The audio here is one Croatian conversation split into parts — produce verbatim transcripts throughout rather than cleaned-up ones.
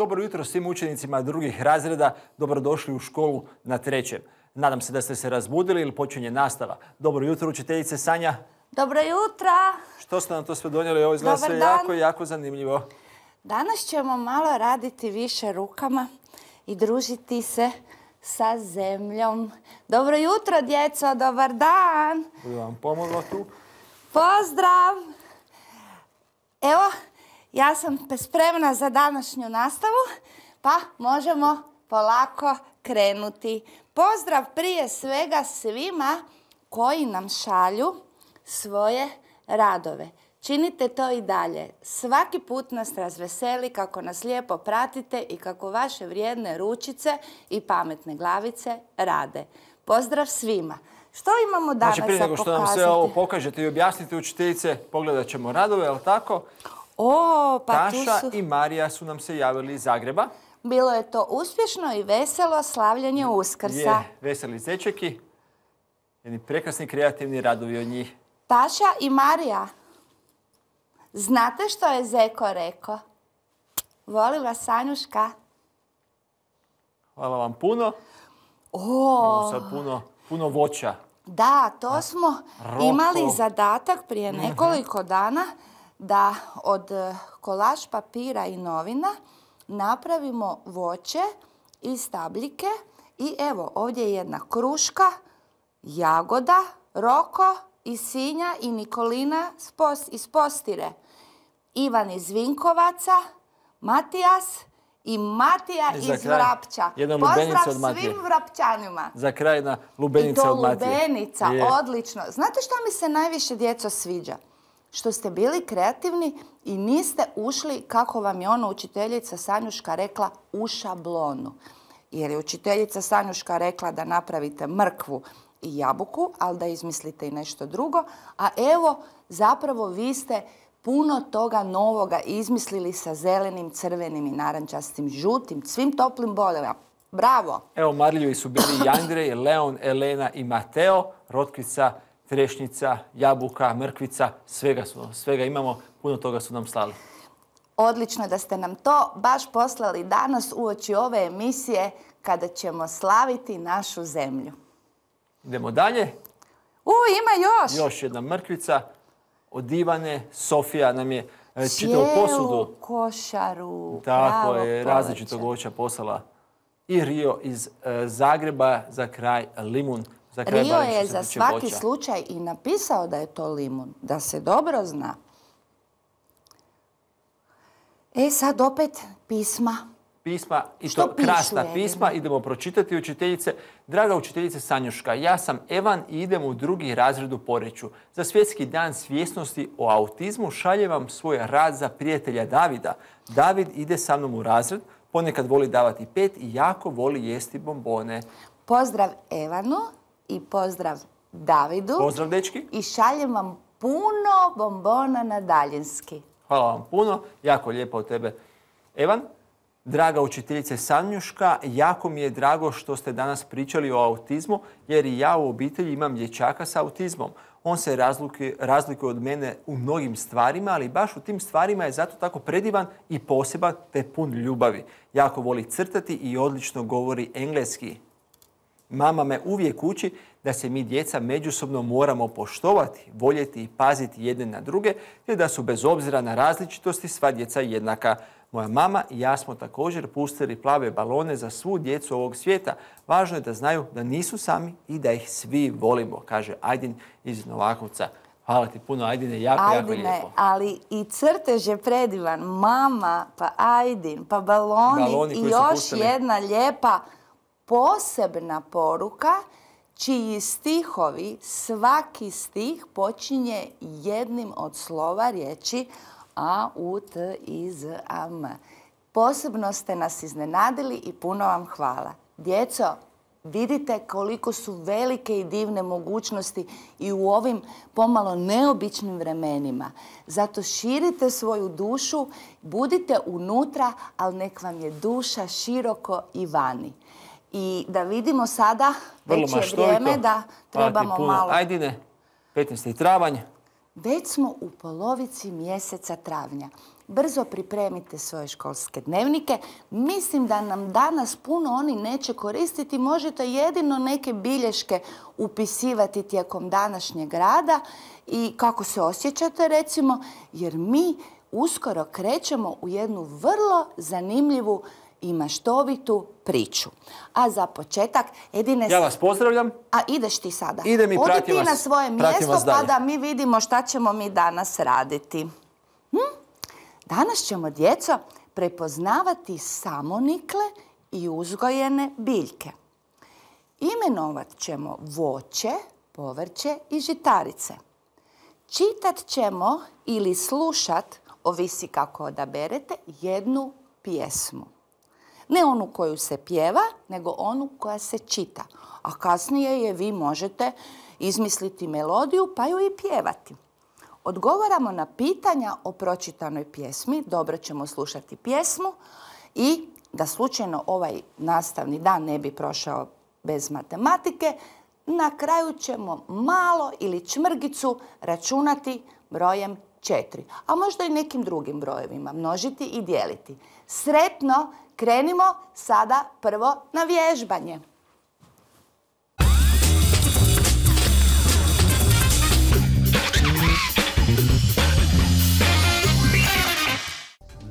Dobro jutro svim učenicima drugih razreda. Dobrodošli u školu na trećem. Nadam se da ste se razbudili ili počinje nastava. Dobro jutro, učiteljice Sanja. Dobro jutro. Što ste nam to sve donijeli? Ovo izgleda sve jako, jako zanimljivo. Danas ćemo malo raditi više rukama i družiti se sa zemljom. Dobro jutro, djeco. Dobar dan. Budu vam pomogla tu. Pozdrav. Evo, ja sam spremna za današnju nastavu, pa možemo polako krenuti. Pozdrav prije svega svima koji nam šalju svoje radove. Činite to i dalje. Svaki put nas razveseli kako nas lijepo pratite i kako vaše vrijedne ručice i pametne glavice rade. Pozdrav svima. Što imamo danas za pokazati? Znači, prije nego što nam sve ovo pokažete i objasnite, učiteljice, pogledat ćemo radove, je li tako? O, pa Taša tu su... i Marija su nam se javili iz Zagreba. Bilo je to uspješno i veselo slavljanje Uskrsa. Je, veseli zečeki. Jedni prekrasni kreativni radovi od njih. Taša i Marija, znate što je Zeko rekao? Voli vas, Sanjuška. Hvala vam puno. O, Sad puno, puno voća. da, to smo Roko. imali zadatak prije nekoliko dana da od kolaž papira i novina napravimo voće i stabljike. I evo, ovdje je jedna kruška, jagoda, Roko i Sinja i Nikolina iz Postire. Ivan iz Vinkovaca, Matijas i Matija I za iz kraj, Vrapča. jedna lubenica Pozdrav od Matije. svim Vrapčanima. Za kraj jedna I lubenica to od Matije. lubenica, Je. odlično. Znate što mi se najviše, djeco, sviđa? Što ste bili kreativni i niste ušli, kako vam je ono učiteljica Sanjuška rekla, u šablonu. Jer je učiteljica Sanjuška rekla da napravite mrkvu i jabuku, ali da izmislite i nešto drugo. A evo, zapravo vi ste puno toga novoga izmislili sa zelenim, crvenim i narančastim, žutim, svim toplim bojama. Bravo! Evo, marljivi su bili i Andrej, Leon, Elena i Mateo, rotkvica, trešnjica, jabuka, mrkvica, svega, su, svega imamo, puno toga su nam slali. Odlično da ste nam to baš poslali danas uoči ove emisije kada ćemo slaviti našu zemlju. Idemo dalje. U, ima još! Još jedna mrkvica od Ivane. Sofija nam je e, čitavu posudu. Cijelu košaru. Tako pravo je, povrće. različitog voća poslala. I Rio iz e, Zagreba, za kraj limun. Za kraj Rio barem što je se za tiče svaki voća. slučaj i napisao da je to limun, da se dobro zna. E sad opet pisma. Pisma, i Što to pišu, krasna Edina? pisma. Idemo pročitati, učiteljice. Draga učiteljice Sanjuška, ja sam Evan i idem u drugi razred u Poreču. Za svjetski dan svjesnosti o autizmu šaljem vam svoj rad za prijatelja Davida. David ide sa mnom u razred, ponekad voli davati pet i jako voli jesti bombone. Pozdrav Evanu i pozdrav Davidu. Pozdrav, dečki. I šaljem vam puno bombona na daljinski. Hvala vam puno, jako lijepo od tebe. Evan, draga učiteljice Sanjuška, jako mi je drago što ste danas pričali o autizmu, jer i ja u obitelji imam dječaka s autizmom. On se razlikuje, razlikuje od mene u mnogim stvarima, ali baš u tim stvarima je zato tako predivan i poseban te pun ljubavi. Jako voli crtati i odlično govori engleski. Mama me uvijek uči da se mi djeca međusobno moramo poštovati, voljeti i paziti jedne na druge, te da su bez obzira na različitosti sva djeca jednaka. Moja mama i ja smo također pustili plave balone za svu djecu ovog svijeta. Važno je da znaju da nisu sami i da ih svi volimo, kaže Ajdin iz Novakovca. Hvala ti puno, Ajdine, jako, Ajdine, jako lijepo. ali i crtež je predivan. Mama, pa Ajdin, pa baloni, Baloni koji i su još pustili. jedna lijepa posebna poruka, čiji stihovi, svaki stih počinje jednim od slova riječi A, U, T, I, Z, A, M. Posebno ste nas iznenadili i puno vam hvala. Djeco, vidite koliko su velike i divne mogućnosti i u ovim pomalo neobičnim vremenima. Zato širite svoju dušu, budite unutra, ali nek vam je duša široko i vani. I da vidimo sada, već je vrijeme da trebamo malo... Ajdine, petnaesti travanj. Već smo u polovici mjeseca travnja. Brzo pripremite svoje školske dnevnike. Mislim da nam danas puno oni neće koristiti. Možete jedino neke bilješke upisivati tijekom današnjeg rada i kako se osjećate recimo, jer mi uskoro krećemo u jednu vrlo zanimljivu i maštovitu priču. A za početak, Edine... Ja vas pozdravljam. A ideš ti sada. Idem i pratim vas. Odi ti na svoje mjesto pa da mi vidimo šta ćemo mi danas raditi. Hm? Danas ćemo, djeco, prepoznavati samonikle i uzgojene biljke. Imenovat ćemo voće, povrće i žitarice. Čitat ćemo ili slušat, ovisi kako odaberete, jednu pjesmu. Ne onu koju se pjeva, nego onu koja se čita. A kasnije je vi možete izmisliti melodiju pa ju i pjevati. Odgovaramo na pitanja o pročitanoj pjesmi, dobro ćemo slušati pjesmu i da slučajno ovaj nastavni dan ne bi prošao bez matematike, na kraju ćemo malo ili čmrgicu računati brojem četiri, a možda i nekim drugim brojevima, množiti i dijeliti. Sretno, krenimo sada prvo na vježbanje.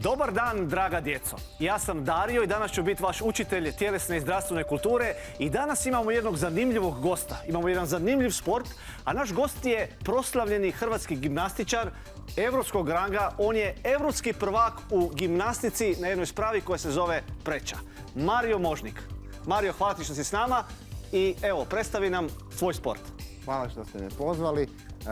Dobar dan, draga djeco. Ja sam Dario i danas ću biti vaš učitelj tjelesne i zdravstvene kulture i danas imamo jednog zanimljivog gosta. Imamo jedan zanimljiv sport, a naš gost je proslavljeni hrvatski gimnastičar europskog ranga. On je europski prvak u gimnastici na jednoj spravi koja se zove preča. Mario Možnik. Mario, hvala ti što si s nama i evo, predstavi nam svoj sport. Hvala što ste me pozvali.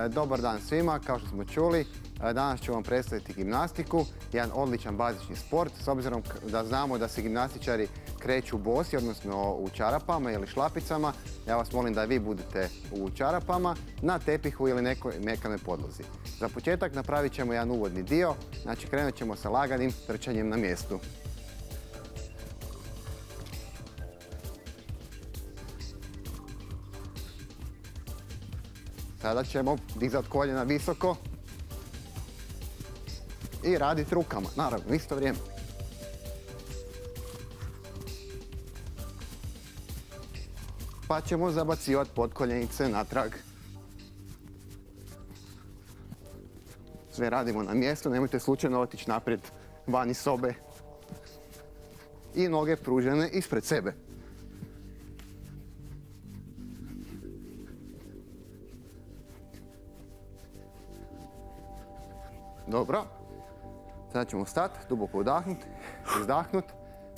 Dobar dan svima, kao što smo čuli. Danas ću vam predstaviti gimnastiku, jedan odličan bazični sport, s obzirom da znamo da se gimnastičari kreću bosi, odnosno u čarapama ili šlapicama. Ja vas molim da vi budete u čarapama, na tepihu ili nekoj mekanoj podlozi. Za početak napravit ćemo jedan uvodni dio, znači krenut ćemo sa laganim trčanjem na mjestu. Sada ćemo dizati koljena visoko i raditi rukama, naravno, u isto vrijeme. Pa ćemo zabacivati potkoljenice natrag. Sve radimo na mjestu, nemojte slučajno otići naprijed van iz sobe. I noge pružene ispred sebe. Dobro. Sada ćemo stati, duboko udahnuti, izdahnuti,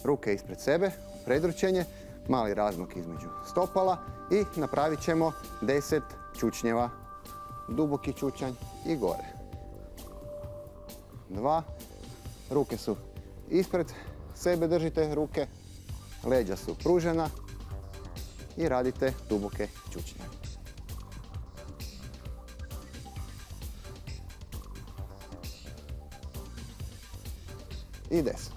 ruke ispred sebe, predručenje, mali razmak između stopala i napravit ćemo deset čučnjeva. Duboki čučanj i gore. Dva. Ruke su ispred sebe, držite ruke, leđa su pružena i radite duboke čučnjeve. I deset.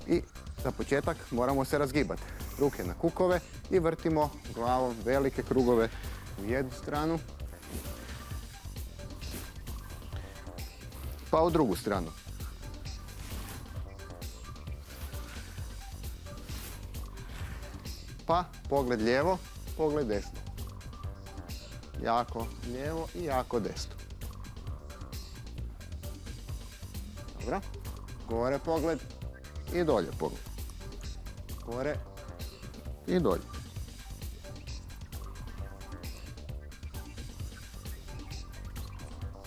I za početak moramo se razgibati. Ruke na kukove i vrtimo glavom velike krugove u jednu stranu, pa u drugu stranu. Pa pogled lijevo, pogled desno. Jako lijevo i jako desno. Dobro. Gore pogled i dolje pogled. Gore i dolje.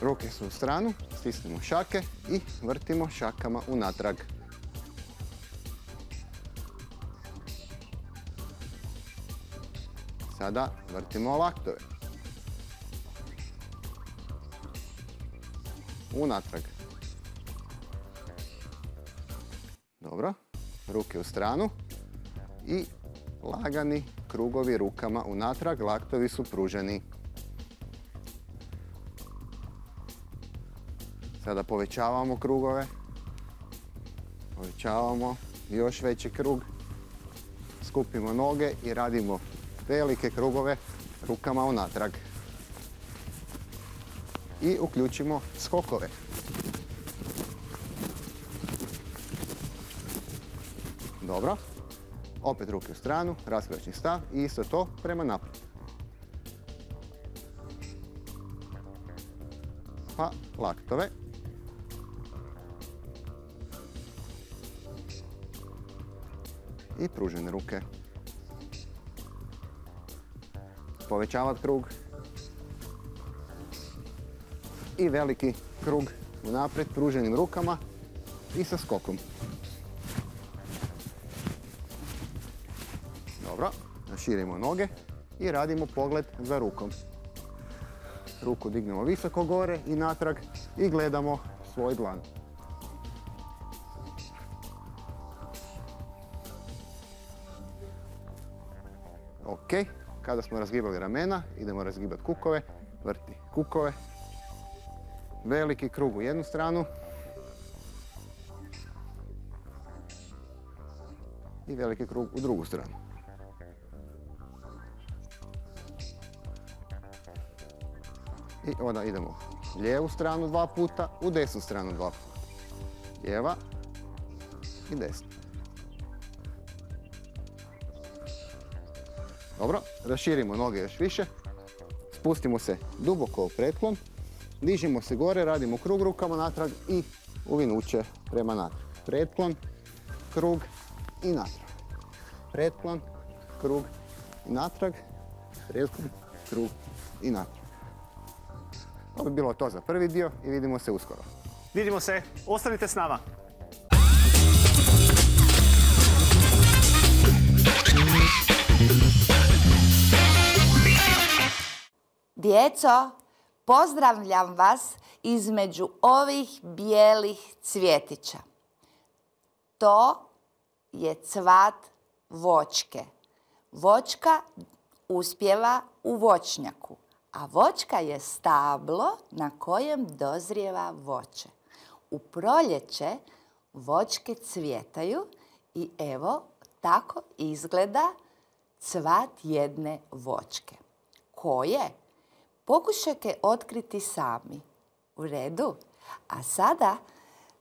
Ruke su u stranu, stisnemo šake i vrtimo šakama unatrag. Sada vrtimo laktove. Unatrag. Dobro, ruke u stranu i lagani krugovi rukama unatrag, laktovi su pruženi. Sada povećavamo krugove, povećavamo još veći krug, skupimo noge i radimo velike krugove rukama unatrag. i uključimo skokove. Dobro. Opet ruke u stranu, raskršćni stav i isto to prema naprijed. Pa laktove. I pružene ruke. Povećavati krug. I veliki krug unaprijed pruženim rukama i sa skokom. Dobro, naširimo noge i radimo pogled za rukom. Ruku dignemo visoko gore i natrag i gledamo svoj dlan. Ok, kada smo razgibali ramena, idemo razgibati kukove, vrti kukove. Veliki krug u jednu stranu. I veliki krug u drugu stranu. I onda idemo u lijevu stranu dva puta, u desnu stranu dva puta. Lijeva i desna. Dobro, raširimo noge još više. Spustimo se duboko u pretklon. Dižimo se gore, radimo krug rukama natrag i uvinuće prema natrag. Pretklon, krug i natrag. Pretklon, krug i natrag. Pretklon, krug i natrag. To bi bilo to za prvi dio i vidimo se uskoro. Vidimo se, ostanite s nama. Djeco, pozdravljam vas između ovih bijelih cvjetića. To je cvat voćke. Voćka uspijeva u voćnjaku, a voćka je stablo na kojem dozrijeva voće. U proljeće voćke cvjetaju i evo tako izgleda cvat jedne voćke. Koje? Pokušajte otkriti sami. U redu? A sada,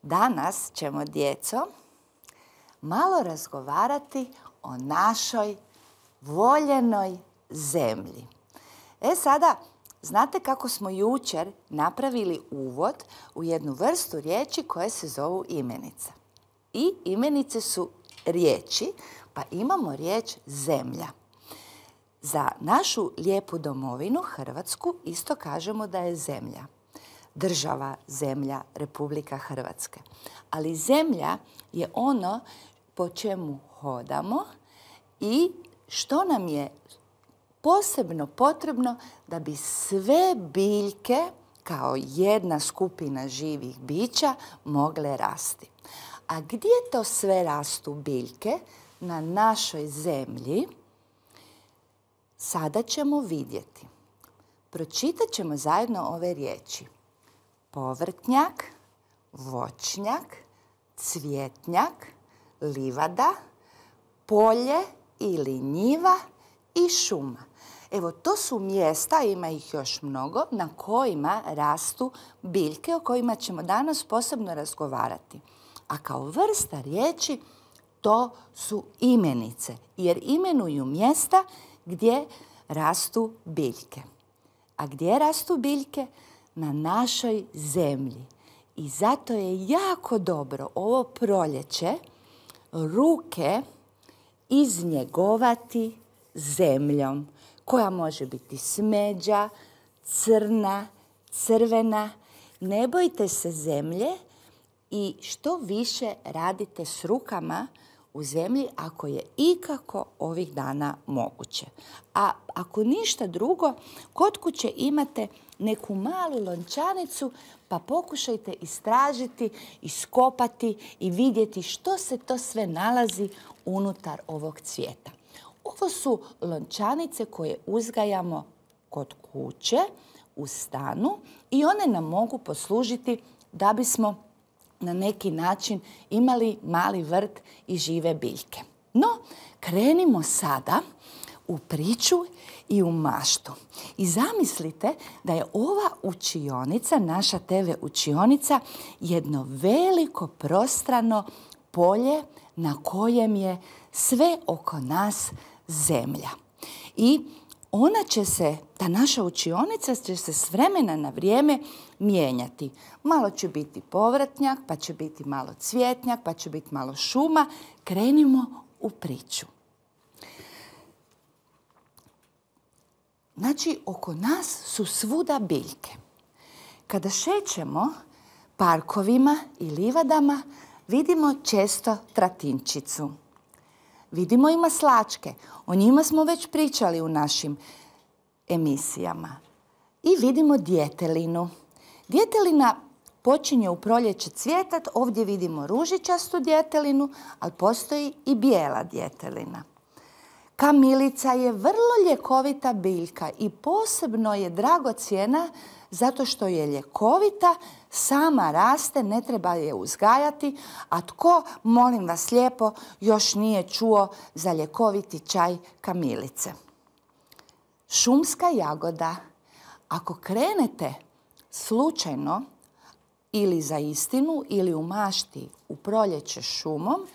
danas ćemo, djeco, malo razgovarati o našoj voljenoj zemlji. E sada, znate kako smo jučer napravili uvod u jednu vrstu riječi koje se zovu imenica. I imenice su riječi, pa imamo riječ zemlja. Za našu lijepu domovinu, Hrvatsku, isto kažemo da je zemlja. Država, zemlja, Republika Hrvatska. Ali zemlja je ono po čemu hodamo i što nam je posebno potrebno da bi sve biljke, kao jedna skupina živih bića, mogle rasti. A gdje to sve rastu biljke? Na našoj zemlji. Sada ćemo vidjeti. Pročitat ćemo zajedno ove riječi. Povrtnjak, voćnjak, cvjetnjak, livada, polje ili njiva i šuma. Evo, to su mjesta, ima ih još mnogo, na kojima rastu biljke o kojima ćemo danas posebno razgovarati. A kao vrsta riječi to su imenice, jer imenuju mjesta gdje rastu biljke. A gdje rastu biljke? Na našoj zemlji. I zato je jako dobro ovo proljeće ruke iznjegovati zemljom, koja može biti smeđa, crna, crvena. Ne bojte se zemlje i što više radite s rukama u zemlji ako je ikako ovih dana moguće. A ako ništa drugo, kod kuće imate neku malu lončanicu, pa pokušajte istražiti, iskopati i vidjeti što se to sve nalazi unutar ovog cvijeta. Ovo su lončanice koje uzgajamo kod kuće, u stanu, i one nam mogu poslužiti da bismo na neki način imali mali vrt i žive biljke. No, krenimo sada u priču i u maštu. I zamislite da je ova učionica, naša te ve učionica, jedno veliko prostrano polje na kojem je sve oko nas zemlja. I ona će se, ta naša učionica će se s vremena na vrijeme mijenjati. Malo će biti povrtnjak, pa će biti malo cvjetnjak, pa će biti malo šuma. Krenimo u priču. Znači, oko nas su svuda biljke. Kada šećemo parkovima i livadama, vidimo često tratinčicu. Vidimo i maslačke. O njima smo već pričali u našim emisijama. I vidimo djetelinu. Djetelina počinje u proljeće cvjetat. Ovdje vidimo ružičastu djetelinu, ali postoji i bijela djetelina. Kamilica je vrlo ljekovita biljka i posebno je dragocjena zato što je ljekovita, sama raste, ne treba je uzgajati, a tko, molim vas lijepo, još nije čuo za ljekoviti čaj kamilice. Šumska jagoda. Ako krenete slučajno ili za istinu ili u mašti u proljeće šumom,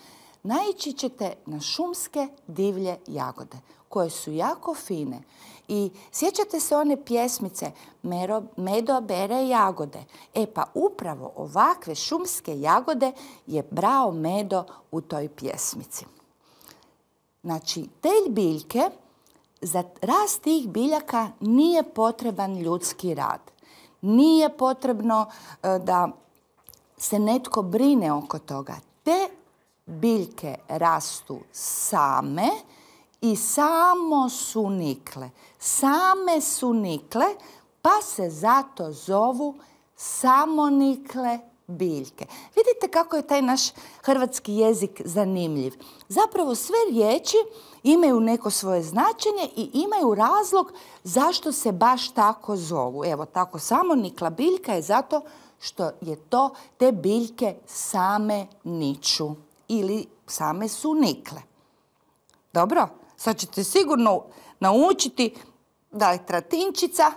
naići ćete na šumske divlje jagode koje su jako fine. I sjećate se one pjesmice Mero, Medo bere jagode. E pa upravo ovakve šumske jagode je brao Medo u toj pjesmici. Znači, te biljke, za rast tih biljaka nije potreban ljudski rad. Nije potrebno e, da se netko brine oko toga. Te biljke rastu same i samo su nikle. Same su nikle, pa se zato zovu samonikle biljke. Vidite kako je taj naš hrvatski jezik zanimljiv. Zapravo sve riječi imaju neko svoje značenje i imaju razlog zašto se baš tako zovu. Evo, tako samonikla biljka je zato što je to, te biljke same niču ili same su nikle. Dobro, sad ćete sigurno naučiti da je tratinčica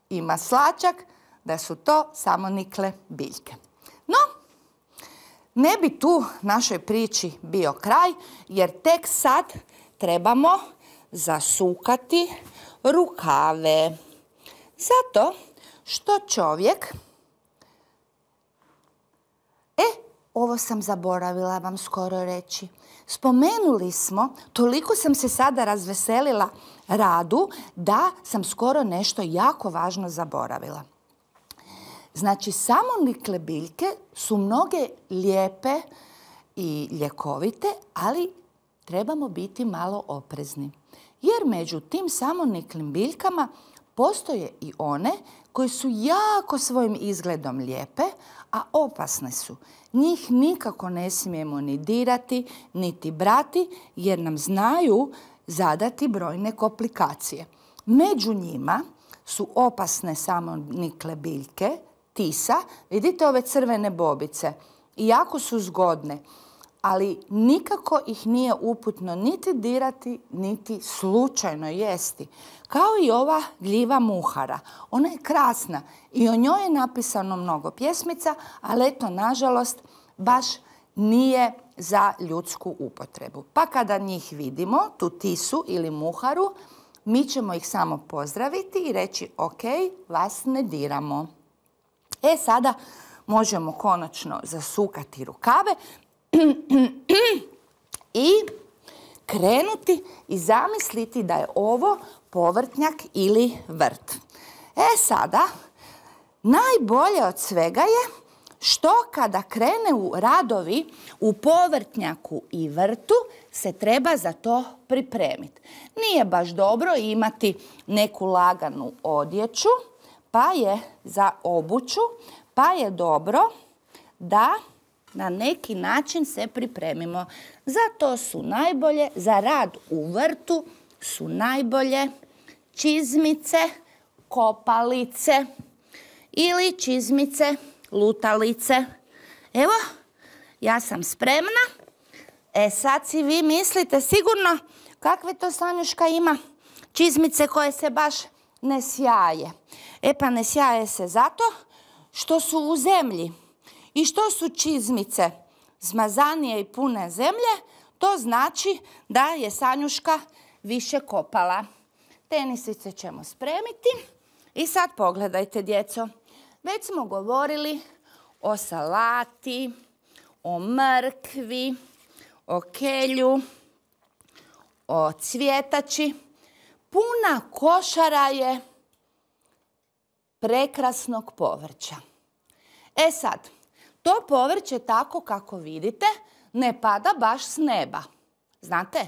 i maslačak, da su to samonikle biljke. No, ne bi tu našoj priči bio kraj, jer tek sad trebamo zasukati rukave. Zato što čovjek... E, ovo sam zaboravila vam skoro reći. Spomenuli smo, toliko sam se sada razveselila radu, da sam skoro nešto jako važno zaboravila. Znači, samonikle biljke su mnoge lijepe i ljekovite, ali trebamo biti malo oprezni. Jer među tim samoniklim biljkama postoje i one koje su jako svojim izgledom lijepe, a opasne su. Njih nikako ne smijemo ni dirati, niti brati, jer nam znaju zadati brojne komplikacije. Među njima su opasne samonikle biljke, tisa. Vidite ove crvene bobice? Jako su zgodne, ali nikako ih nije uputno niti dirati, niti slučajno jesti. Kao i ova gljiva muhara. Ona je krasna i o njoj je napisano mnogo pjesmica, ali eto, nažalost, baš nije za ljudsku upotrebu. Pa kada njih vidimo, tu tisu ili muharu, mi ćemo ih samo pozdraviti i reći ok, vas ne diramo. E, sada možemo konačno zasukati rukave i krenuti i zamisliti da je ovo povrtnjak ili vrt. E sada, najbolje od svega je što kada krene u radovi u povrtnjaku i vrtu se treba za to pripremiti. Nije baš dobro imati neku laganu odjeću, pa je za obuću, pa je dobro da na neki način se pripremimo. Za to su najbolje, za rad u vrtu su najbolje čizmice, kopalice ili čizmice, lutalice. Evo, ja sam spremna. E sad si vi mislite sigurno kakve to Sanjuška ima čizmice koje se baš ne sjaje. E pa ne sjaje se zato što su u zemlji. I što su čizmice zmazanije i pune zemlje, to znači da je Sanjuška više kopala. Tenisice ćemo spremiti. I sad pogledajte, djeco. Već smo govorili o salati, o mrkvi, o kelju, o cvjetači. Puna košara je prekrasnog povrća. E sad, to povrće tako kako vidite ne pada baš s neba. Znate,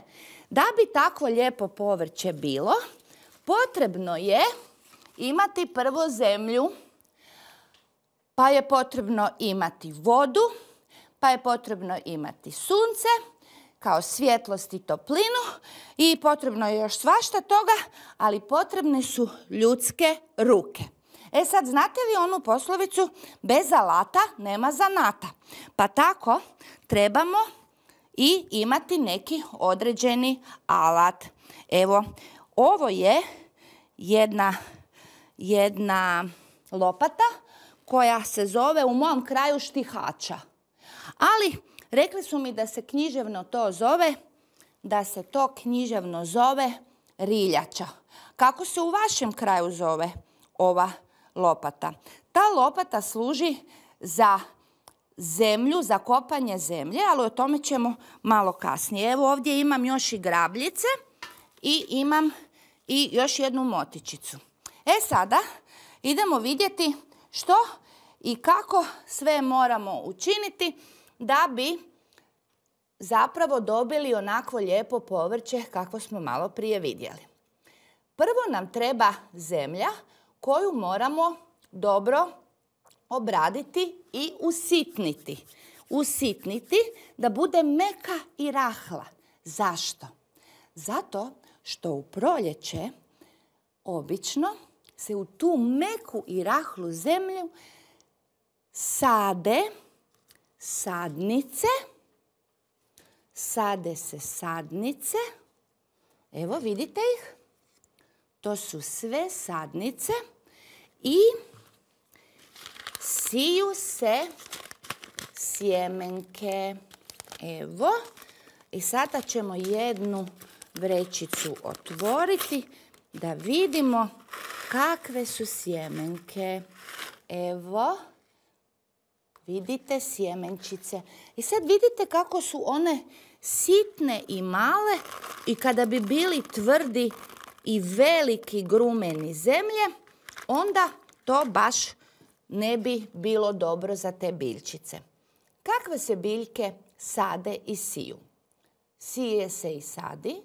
da bi takvo lijepo povrće bilo, potrebno je imati prvo zemlju, pa je potrebno imati vodu, pa je potrebno imati sunce, kao svjetlost i toplinu i potrebno je još svašta toga, ali potrebne su ljudske ruke. E sad, znate li onu poslovicu bez alata nema zanata? Pa tako trebamo i imati neki određeni alat. Evo, ovo je jedna, jedna lopata koja se zove u mom kraju štihača. Ali rekli su mi da se književno to zove, da se to književno zove riljača. Kako se u vašem kraju zove ova lopata? Ta lopata služi za zemlju, za kopanje zemlje, ali o tome ćemo malo kasnije. Evo ovdje imam još i grabljice i imam i još jednu motičicu. E sada idemo vidjeti što i kako sve moramo učiniti da bi zapravo dobili onako lijepo povrće kako smo malo prije vidjeli. Prvo nam treba zemlja koju moramo dobro obraditi i usitniti. Usitniti da bude meka i rahla. Zašto? Zato što u proljeće obično se u tu meku i rahlu zemlju sade sadnice, sade se sadnice, evo vidite ih, to su sve sadnice i siju se sjemenke, evo, i sada ćemo jednu vrećicu otvoriti da vidimo kakve su sjemenke, evo. Vidite sjemenčice. I sad vidite kako su one sitne i male i kada bi bili tvrdi i veliki grumeni zemlje, onda to baš ne bi bilo dobro za te biljčice. Kakve se biljke sade i siju? Sije se i sadi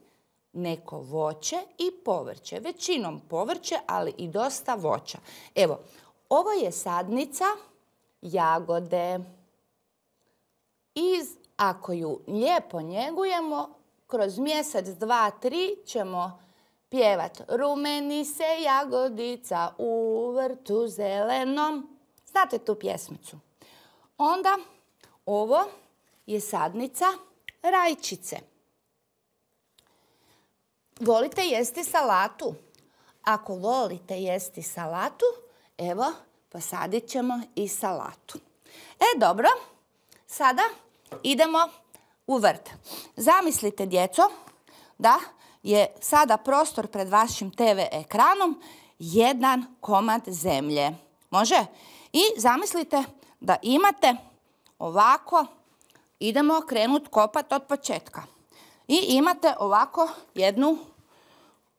neko voće i povrće. Većinom povrće, ali i dosta voća. Evo, ovo je sadnica jagode. I ako ju lijepo njegujemo, kroz mjesec, dva, tri ćemo pjevat rumeni se jagodica u vrtu zelenom. Znate tu pjesmicu? Onda ovo je sadnica rajčice. Volite jesti salatu? Ako volite jesti salatu, evo, posadit ćemo i salatu. E, dobro, sada idemo u vrt. Zamislite, djeco, da je sada prostor pred vašim te ve ekranom jedan komad zemlje. Može? I zamislite da imate ovako, idemo krenuti kopati od početka. I imate ovako jednu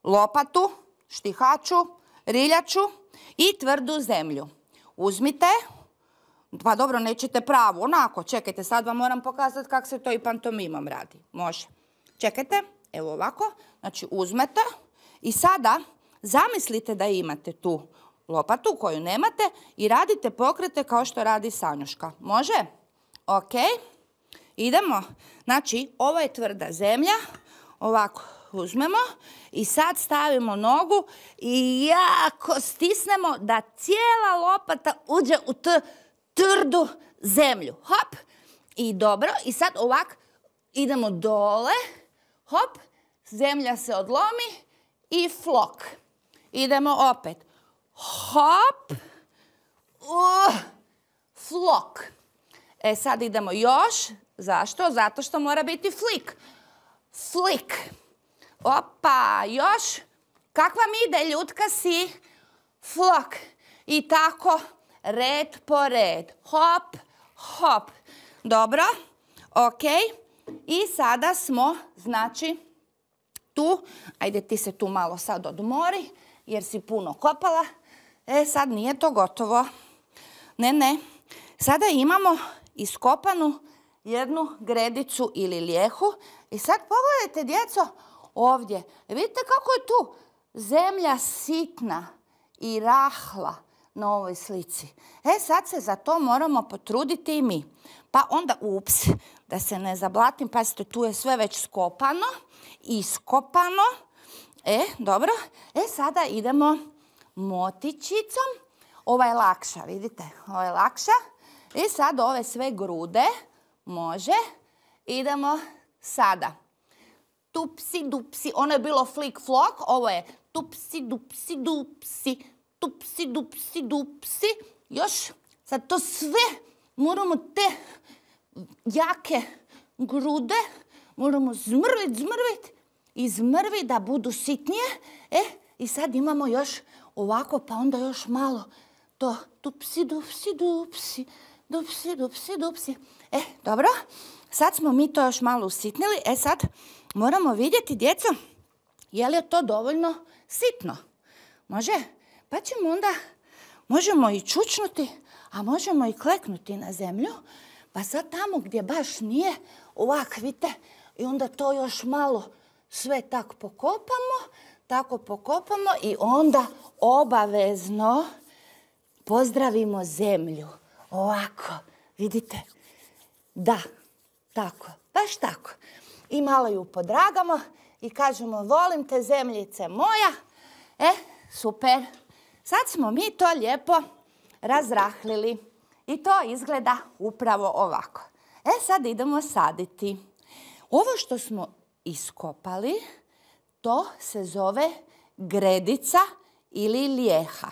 lopatu, štihaču, riljaču i tvrdu zemlju. Uzmite, pa dobro, nećete pravu, onako, čekajte, sad vam moram pokazati kako se to i pantomimom radi. Može. Čekajte, evo ovako, znači uzmete i sada zamislite da imate tu lopatu koju nemate i radite pokrete kao što radi Sanjuška. Može? Ok. Idemo. Znači, ovo je tvrda zemlja. Ovako uzmemo i sad stavimo nogu i jako stisnemo da cijela lopata uđe u tu tvrdu zemlju. Hop. I dobro. I sad ovako idemo dole. Hop. Zemlja se odlomi i flok. Idemo opet. Hop, uh, flok. E sad idemo još. Zašto? Zato što mora biti flik. Flik. Opa, još. Kakva mi ide, ljutka si? Flok. I tako, red po red. Hop, hop. Dobro, ok. I sada smo, znači, tu. Ajde ti se tu malo sad odmori, jer si puno kopala. E, sad nije to gotovo. Ne, ne. Sada imamo iskopanu jednu gredicu ili lijehu. I sad pogledajte, djeco, ovdje. Vidite kako je tu zemlja sitna i rahla na ovoj slici. E, sad se za to moramo potruditi i mi. Pa onda, ups, da se ne zablatim, pazite, tu je sve već skopano, iskopano. E, dobro. E, sada idemo motičicom. Ova je lakša, vidite, ova je lakša. I sad ove sve grude, može, idemo sada. Tupsi, dupsi, ono je bilo flik flok, ovo je tupsi, dupsi, dupsi, tupsi, dupsi, dupsi. Još, sad to sve moramo te jake grude, moramo zmrvit, zmrvit i zmrvit da budu sitnije. E, i sad imamo još ovako, pa onda još malo to tupsi, dupsi, dupsi, dupsi, dupsi, dupsi. E, dobro, sad smo mi to još malo usitnili. E, sad moramo vidjeti, djeco, je li je to dovoljno sitno? Može? Pa ćemo onda, možemo i čučnuti, a možemo i kleknuti na zemlju. Pa sad tamo gdje baš nije, ovak, vidite, i onda to još malo sve tako pokopamo, tako pokopamo i onda obavezno pozdravimo zemlju. Ovako, vidite? Da, tako, baš tako. I malo ju podragamo i kažemo volim te zemljice moja. E, super. Sad smo mi to lijepo razrahlili i to izgleda upravo ovako. E, sad idemo saditi. Ovo što smo iskopali, to se zove gredica ili lijeha.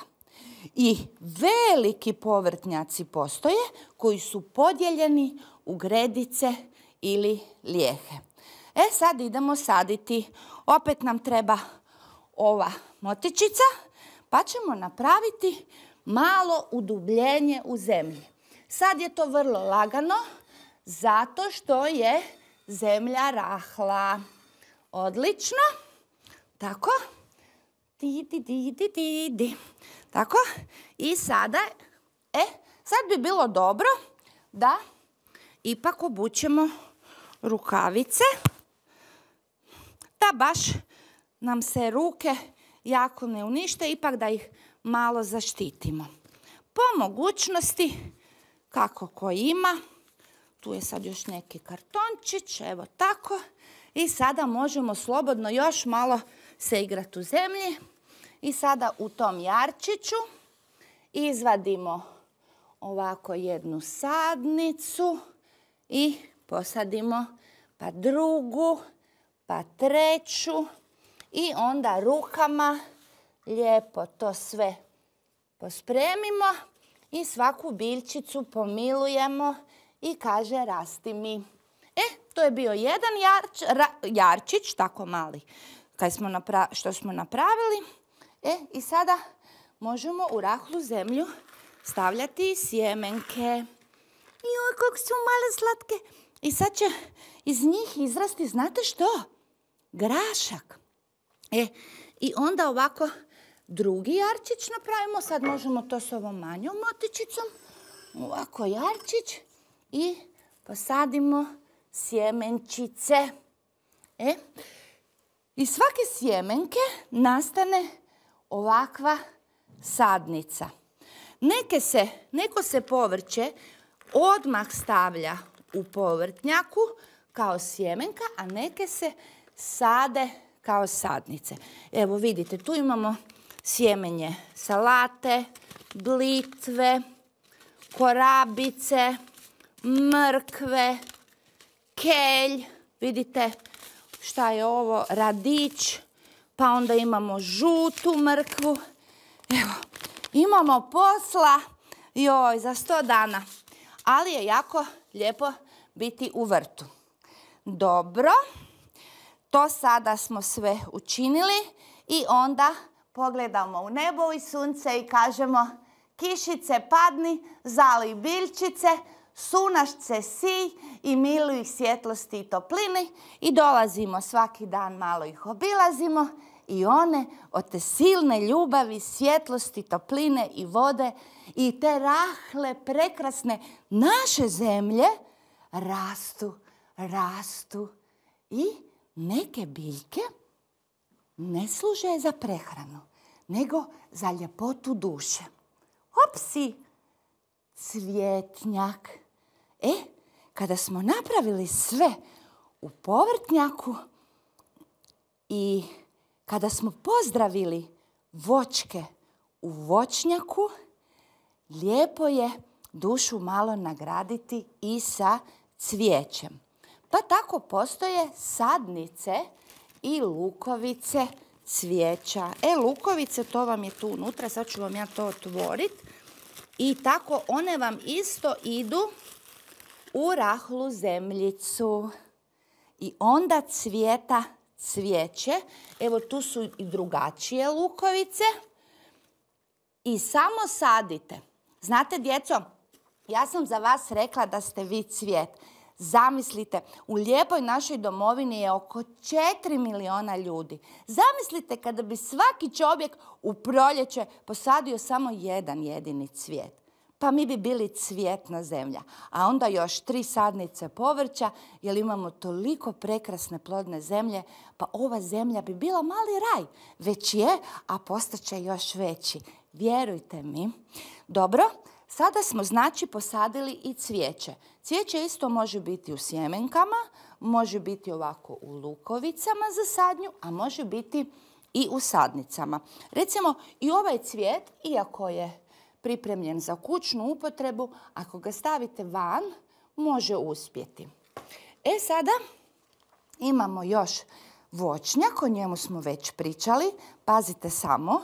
I veliki povrtnjaci postoje koji su podijeljeni u gredice ili lijehe. E, sad idemo saditi. Opet nam treba ova motičica, pa ćemo napraviti malo udubljenje u zemlji. Sad je to vrlo lagano, zato što je zemlja rahla. Odlično. Tako. Di, di, di, di, di, di. Tako. I sada, e, sad bi bilo dobro da ipak obučemo rukavice, da baš nam se ruke jako ne unište, ipak da ih malo zaštitimo. Po mogućnosti, kako ko ima, tu je sad još neki kartončić, evo tako. I sada možemo slobodno još malo se igrati u zemlji. I sada u tom jarčiću izvadimo ovako jednu sadnicu i posadimo pa drugu, pa treću i onda rukama lijepo to sve pospremimo i svaku biljčicu pomilujemo i kaže rasti mi. E, to je bio jedan jarč, ra, jarčić, tako mali, kad smo napra, što smo napravili. E, i sada možemo u rahlu zemlju stavljati sjemenke. Joj, kako su male slatke. I sad će iz njih izrasti, znate što? Grašak. E, i onda ovako drugi jarčić napravimo. Sad možemo to s ovom manjom motičicom. Ovako jarčić i posadimo sjemenčice. E, iz svake sjemenke nastane ovakva sadnica. Neke se, neko se povrće odmah stavlja u povrtnjaku kao sjemenka, a neke se sade kao sadnice. Evo vidite, tu imamo sjemenje salate, blitve, korabice, mrkve, kelj, vidite šta je ovo, radić, pa onda imamo žutu mrkvu. Evo, imamo posla, joj, za sto dana. Ali je jako lijepo biti u vrtu. Dobro, to sada smo sve učinili i onda pogledamo u nebo i sunce i kažemo kišice padni, zali biljčice, sunašce si i miluj ih svjetlosti i toplini i dolazimo svaki dan, malo ih obilazimo i one od te silne ljubavi, svjetlosti, topline i vode i te rahle, prekrasne naše zemlje rastu, rastu i neke biljke ne služe za prehranu, nego za ljepotu duše. Opsi, cvjetnjak. E, kada smo napravili sve u povrtnjaku i kada smo pozdravili voćke u voćnjaku, lijepo je dušu malo nagraditi i sa cvijećem. Pa tako postoje sadnice i lukovice cvijeća. E, lukovice, to vam je tu unutra, sad ću vam ja to otvoriti. I tako one vam isto idu u rahlu zemljicu. I onda cvijeta cvijeće. Evo, tu su i drugačije lukovice. I samo sadite. Znate, djeco, ja sam za vas rekla da ste vi cvijet. Zamislite, u lijepoj našoj domovini je oko četiri miliona ljudi. Zamislite kada bi svaki čovjek u proljeće posadio samo jedan jedini cvijet. Pa mi bi bili cvjetna zemlja. A onda još tri sadnice povrća, jer imamo toliko prekrasne plodne zemlje, pa ova zemlja bi bila mali raj. Već je, a postaće još veći. Vjerujte mi. Dobro. Sada smo, znači, posadili i cvijeće. Cvijeće isto može biti u sjemenkama, može biti ovako u lukovicama za sadnju, a može biti i u sadnicama. Recimo, i ovaj cvijet, iako je pripremljen za kućnu upotrebu, ako ga stavite van, može uspjeti. E sada imamo još voćnjak, o njemu smo već pričali. Pazite samo,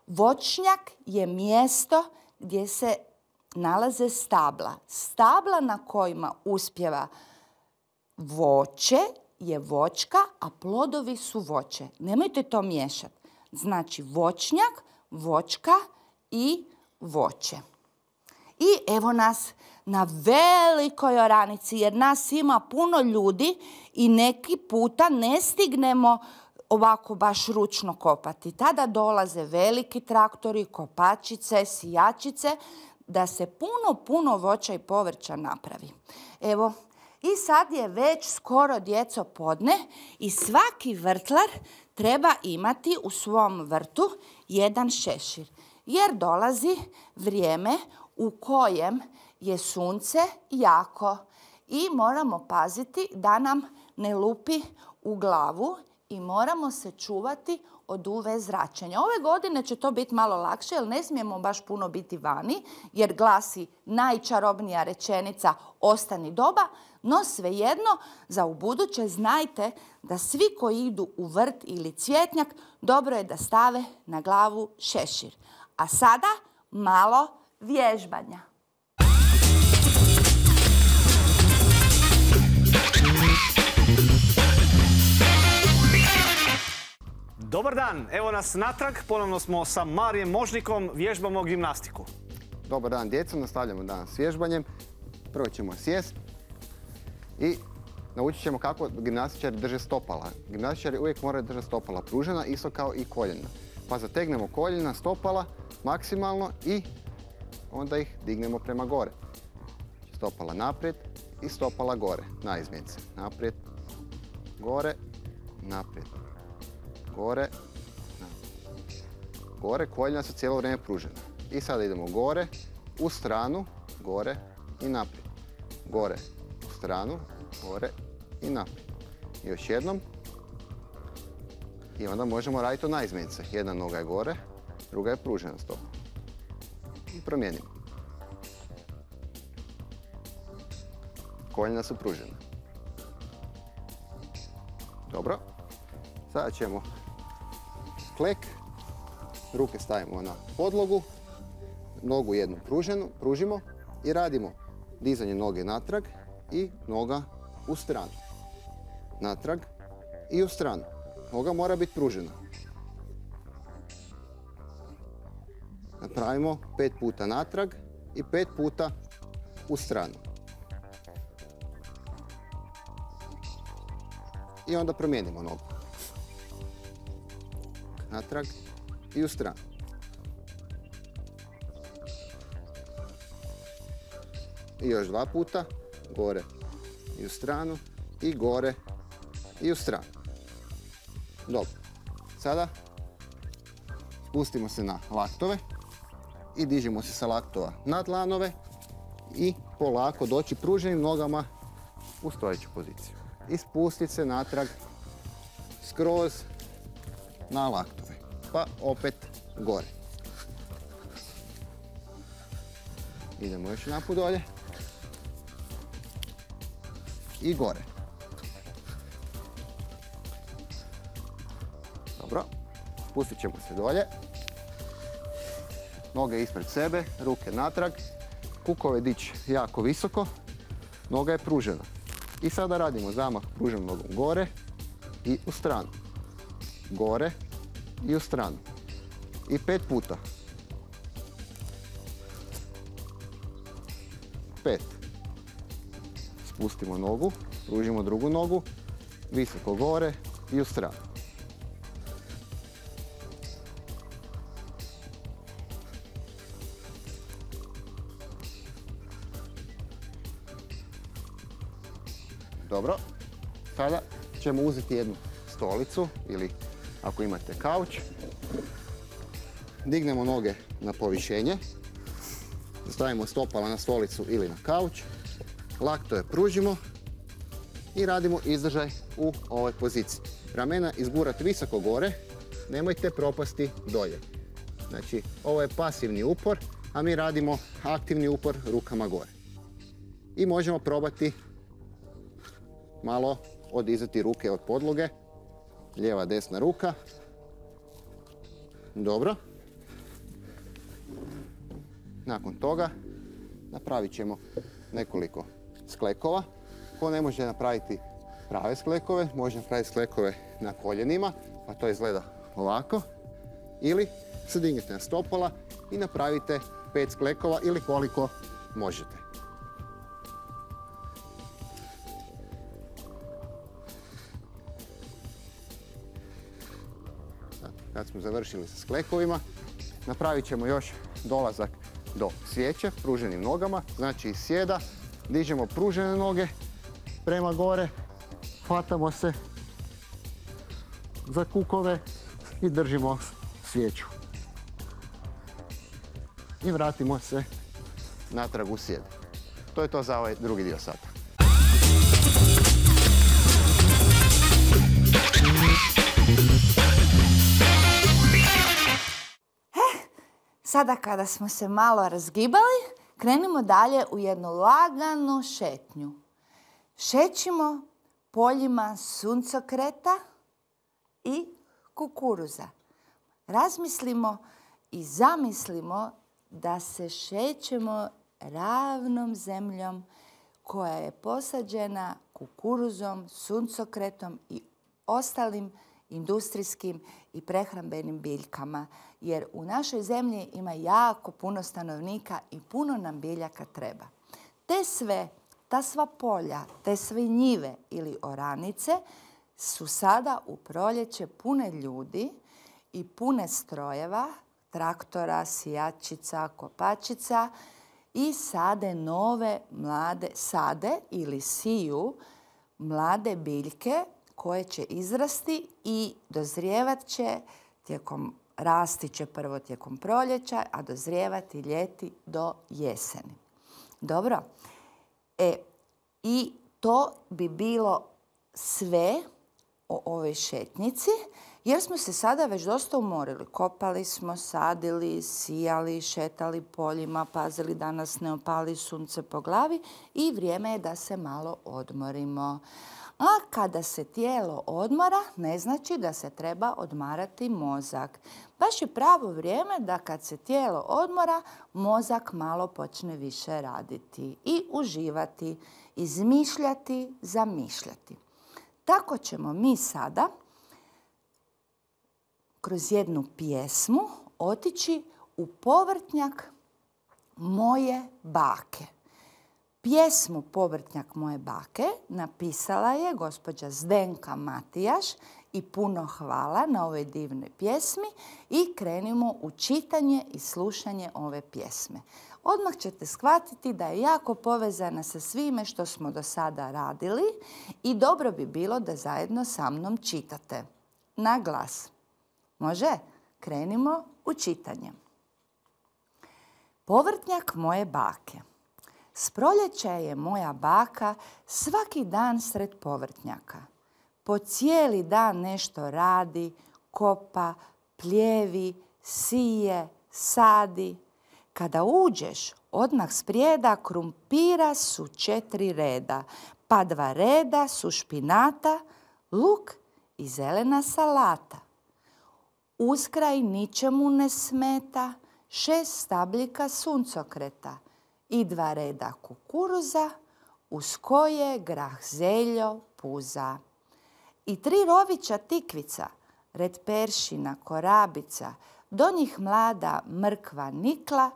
voćnjak je mjesto gdje se nalaze stabla. Stabla na kojima uspijeva voće je voćka, a plodovi su voće. Nemojte to miješati. Znači voćnjak, voćka i voće. I evo nas na velikoj oranici, jer nas ima puno ljudi i neki puta ne stignemo ovako baš ručno kopati. Tada dolaze veliki traktori, kopačice, sijačice, da se puno, puno voća i povrća napravi. Evo, i sad je već skoro, djeco, podne i svaki vrtlar treba imati u svom vrtu jedan šešir. Jer dolazi vrijeme u kojem je sunce jako i moramo paziti da nam ne lupi u glavu i moramo se čuvati od U V zračenja. Ove godine će to biti malo lakše, jer ne smijemo baš puno biti vani, jer glasi najčarobnija rečenica ostani doba, no svejedno za ubuduće znajte da svi koji idu u vrt ili cvjetnjak dobro je da stave na glavu šešir. A sada malo vježbanja. Dobar dan, evo nas natrag, ponovno smo sa Marijem Možnikom, vježbamo gimnastiku. Dobar dan, djeco, nastavljamo danas s vježbanjem. Prvo ćemo sjest i naučit ćemo kako gimnastičari drže stopala. Gimnastičari uvijek moraju držati stopala pružena, isto kao i koljena. Pa zategnemo koljena, stopala maksimalno i onda ih dignemo prema gore. Stopala naprijed i stopala gore, na izmjenice. Naprijed, gore, naprijed. Gore, gore, koljena su cijelo vrijeme pružena. I sada idemo gore, u stranu, gore i naprijed. Gore, u stranu, gore i naprijed. I još jednom. I onda možemo raditi od naizmjenice. Jedna noga je gore, druga je pružena stopa. I promijenimo. Koljena su pružena. Dobro. Sada ćemo sklek. Ruke stavimo na podlogu. Nogu jednu pruženu, pružimo i radimo dizanje noge natrag i noga u stranu. Natrag i u stranu. Noga mora biti pružena. Napravimo pet puta natrag i pet puta u stranu. I onda promijenimo nogu. Natrag i u stranu. I još dva puta, gore i u stranu, i gore i u stranu. Dobro. Sada spustimo se na laktove i dižemo se sa laktova na dlanove i polako doći pruženim nogama u stojeću poziciju. I spustiti se natrag skroz na laktove. Pa opet gore. Idemo još naput dolje. I gore. Dobro. Spustit ćemo se dolje. Noge ispred sebe, ruke natrag. Kukove dići jako visoko. Noga je pružena. I sada radimo zamah pruženom nogom gore i u stranu. Gore i u stranu. I pet puta. Pet. Spustimo nogu, pružimo drugu nogu, visoko gore i u stranu. Dobro. Sada ćemo uzeti jednu stolicu ili ako imate kauč. Dignemo noge na povišenje. Stavimo stopala na stolicu ili na kauč. Laktove pružimo i radimo izdržaj u ovoj poziciji. Ramena izgurati visoko gore, nemojte propasti dolje. Znači, ovo je pasivni upor, a mi radimo aktivni upor rukama gore. I možemo probati malo odizati ruke od podloge. Lijeva, desna ruka. Dobro. Nakon toga napravit ćemo nekoliko sklekova. Ko ne može napraviti prave sklekove, može napraviti sklekove na koljenima, pa to izgleda ovako. Ili se dignete na stopala i napravite pet sklekova ili koliko možete. Kad smo završili sa sklekovima, napravit ćemo još dolazak do svijeće pruženim nogama, znači iz sjeda dižemo pružene noge prema gore, hvatamo se za kukove i držimo svijeću. I vratimo se natrag u sjed. To je to za ovaj drugi dio sata. Sada kada smo se malo razgibali, krenimo dalje u jednu laganu šetnju. Šećimo poljima suncokreta i kukuruza. Razmislimo i zamislimo da se šećemo ravnom zemljom koja je posađena kukuruzom, suncokretom i ostalim industrijskim i prehrambenim biljkama. Jer u našoj zemlji ima jako puno stanovnika i puno nam biljaka treba. Te sve, ta sva polja, te sve njive ili oranice su sada u proljeće pune ljudi i pune strojeva, traktora, sijačica, kopačica i sade nove mlade sade ili siju mlade biljke koje će izrasti i dozrijevat će tijekom, rasti će prvo tijekom proljeća, a dozrijevati ljeti do jeseni. Dobro. E, i to bi bilo sve o ovoj šetnici. jer smo se sada već dosta umorili. Kopali smo, sadili, sijali, šetali poljima, pazili da nas ne opali sunce po glavi i vrijeme je da se malo odmorimo. A kada se tijelo odmora, ne znači da se treba odmarati mozak. Baš je pravo vrijeme da kad se tijelo odmora, mozak malo počne više raditi i uživati, izmišljati, zamišljati. Tako ćemo mi sada kroz jednu pjesmu otići u povrtnjak moje bake. Pjesmu Povrtnjak moje bake napisala je gospođa Zdenka Matijaš i puno hvala na ovoj divnoj pjesmi i krenimo u čitanje i slušanje ove pjesme. Odmah ćete shvatiti da je jako povezana sa svime što smo do sada radili i dobro bi bilo da zajedno sa mnom čitate. Na glas. Može? Krenimo u čitanje. Povrtnjak moje bake. S proljeća je moja baka svaki dan sred povrtnjaka. Po cijeli dan nešto radi, kopa, pljevi, sije, sadi. Kada uđeš, odmah sprijeda krumpira su četiri reda, pa dva reda su špinata, luk i zelena salata. Uskraj ničemu ne smeta, šest stabljika suncokreta i dva reda kukuruza, uz koje grah zeljo puza. I tri rovića tikvica, red peršina, korabica, do njih mlada mrkva nikla,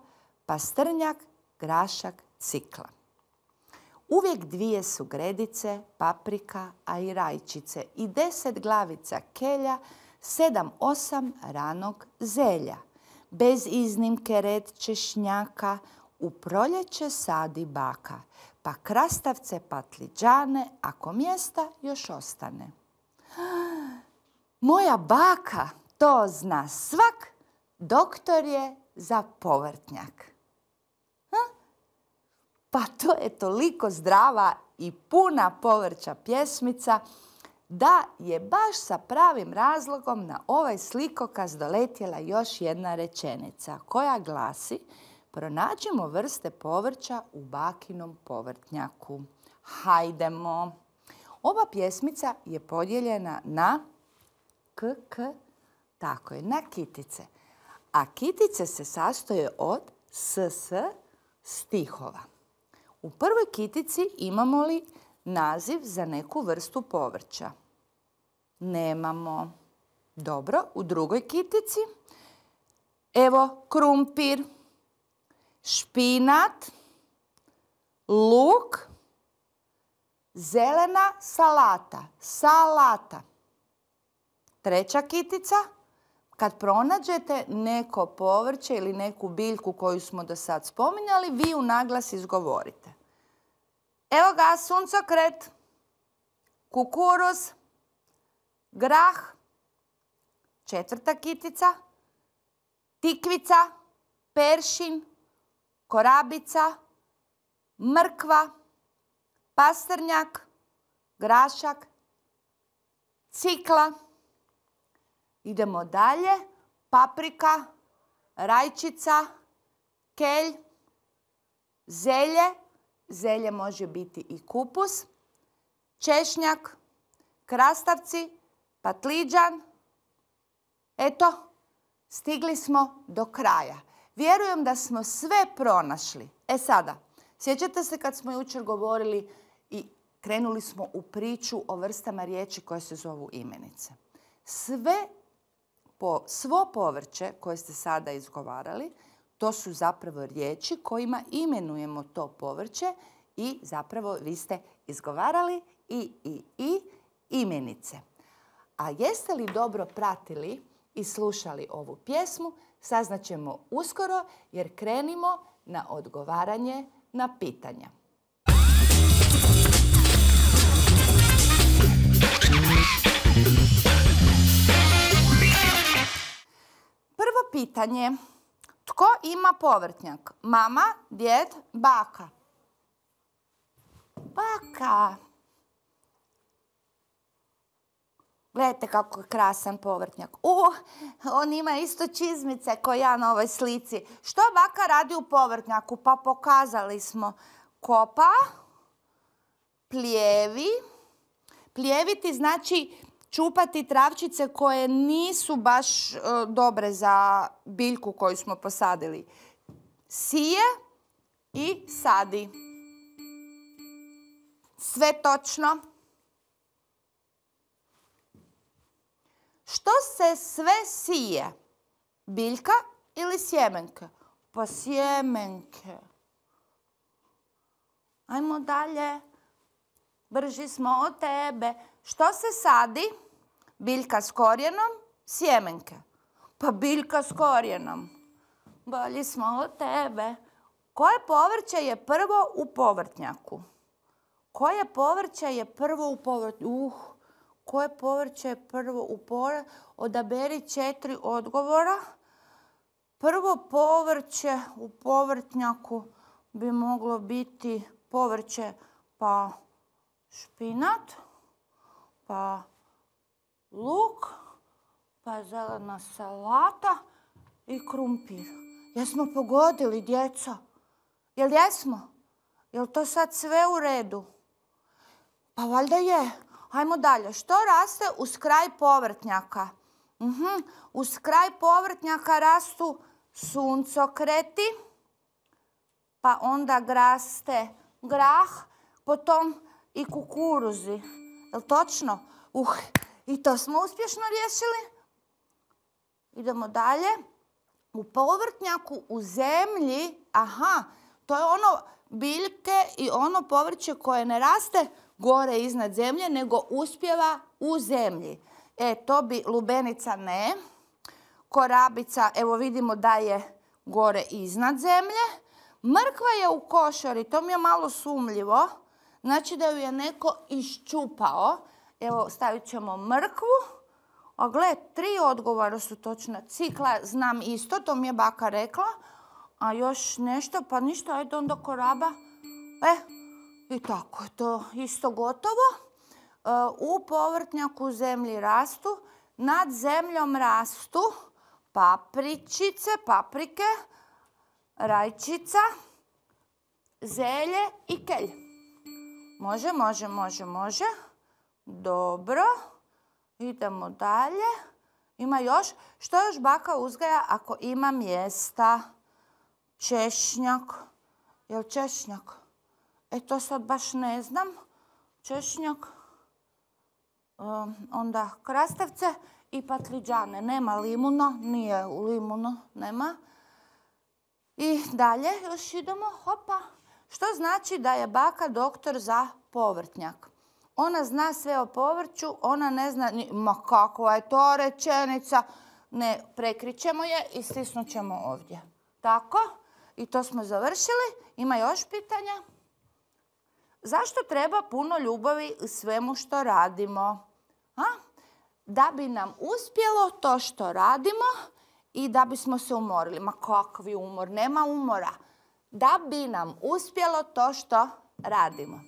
pastrnjak, grašak, cikla. Uvijek dvije su gredice, paprika, a i rajčice i deset glavica kelja, sedam, osam ranog zelja. Bez iznimke red češnjaka, u proljeće sadi baka, pa krastavce, patliđane, ako mjesta još ostane. Moja baka, to zna svak, doktor je za povrtnjak. Ha? Pa to je toliko zdrava i puna povrća pjesmica da je baš sa pravim razlogom na ovaj slikokaz doletjela još jedna rečenica koja glasi: pronađimo vrste povrća u bakinom povrtnjaku. Hajdemo! Ova pjesmica je podijeljena na k, k, tako je, na kitice. A kitice se sastoje od s, s stihova. U prvoj kitici imamo li naziv za neku vrstu povrća? Nemamo. Dobro, u drugoj kitici evo krumpir, špinat, luk, zelena salata, salata. Treća kitica, kad pronađete neko povrće ili neku biljku koju smo do sad spominjali, vi u naglas izgovorite. Evo ga, suncokret, kukuruz, grah, četvrta kitica, tikvica, peršin, korabica, mrkva, pastrnjak, grašak, cikla. Idemo dalje. Paprika, rajčica, kelj, zelje, zelje može biti i kupus, češnjak, krastavci, patliđan. Eto, stigli smo do kraja. Vjerujem da smo sve pronašli. E sada, sjećate se kad smo jučer govorili i krenuli smo u priču o vrstama riječi koje se zovu imenice. Sve, po, svo povrće koje ste sada izgovarali, to su zapravo riječi kojima imenujemo to povrće i zapravo vi ste izgovarali i, i, i imenice. A jeste li dobro pratili i slušali ovu pjesmu, saznaćemo uskoro jer krenimo na odgovaranje na pitanja. Prvo pitanje. Tko ima povrtnjak? Mama, djed, baka. Baka. Gledajte kako je krasan povrtnjak. Uh, on ima isto čizmice ko ja na ovoj slici. Što baka radi u povrtnjaku? Pa pokazali smo. Kopa, plijevi. Plijeviti znači čupati travčice koje nisu baš uh, dobre za biljku koju smo posadili. Sije i sadi. Sve točno. Što se sve sije? Biljka ili sjemenke? Pa sjemenke. Ajmo dalje. Brži smo od tebe. Što se sadi? Biljka s korijenom, sjemenke. Pa biljka s korijenom. Bolji smo od tebe. Koje povrće je prvo u povrtnjaku? Koje povrće je prvo u povrtnjaku? Uh, koje povrće je prvo u povrtnjaku? Odaberi četiri odgovora. Prvo povrće u povrtnjaku bi moglo biti povrće pa špinat, pa luk, pa zelena salata i krumpir. Jesmo pogodili, djeco? Jel jesmo? Jel to sad sve u redu? Pa valjda je. Hajmo dalje. Što raste uz kraj povrtnjaka? Uh-huh. Uz kraj povrtnjaka rastu suncokreti, pa onda raste grah, potom i kukuruzi. Jel točno? Uh, i to smo uspješno riješili. Idemo dalje. U povrtnjaku, u zemlji, aha, to je ono biljke i ono povrće koje ne raste gore iznad zemlje, nego uspijeva u zemlji. E, to bi lubenica ne. Korabica, evo vidimo da je gore iznad zemlje. Mrkva je u košari, to mi je malo sumljivo. Znači da ju je neko iščupao. Evo, stavit ćemo mrkvu. A gle, tri odgovora su točna. Cikla znam isto, to mi je baka rekla. A još nešto, pa ništa, ajde onda koraba. E, i tako, to isto gotovo. E, u povrtnjaku u zemlji rastu, nad zemljom rastu papričice, paprike, rajčica, zelje i kelj. Može, može, može, može. Dobro. Idemo dalje. Ima još. Što još baka uzgaja ako ima mjesta? Češnjak. Jel češnjak? E to sad baš ne znam. Češnjak. Um, onda krastavce i patliđane. Nema limuna. Nije u limunu. Nema. I dalje još idemo. Hopa. Što znači da je baka doktor za povrtnjak? Ona zna sve o povrću, ona ne zna ni, ma kakva je to rečenica. Ne, prekrićemo je i stisnut ćemo ovdje. Tako? I to smo završili. Ima još pitanja? Zašto treba puno ljubavi u svemu što radimo? A? Da bi nam uspjelo to što radimo i da bismo se umorili. Ma kakvi umor? Nema umora. Da bi nam uspjelo to što radimo.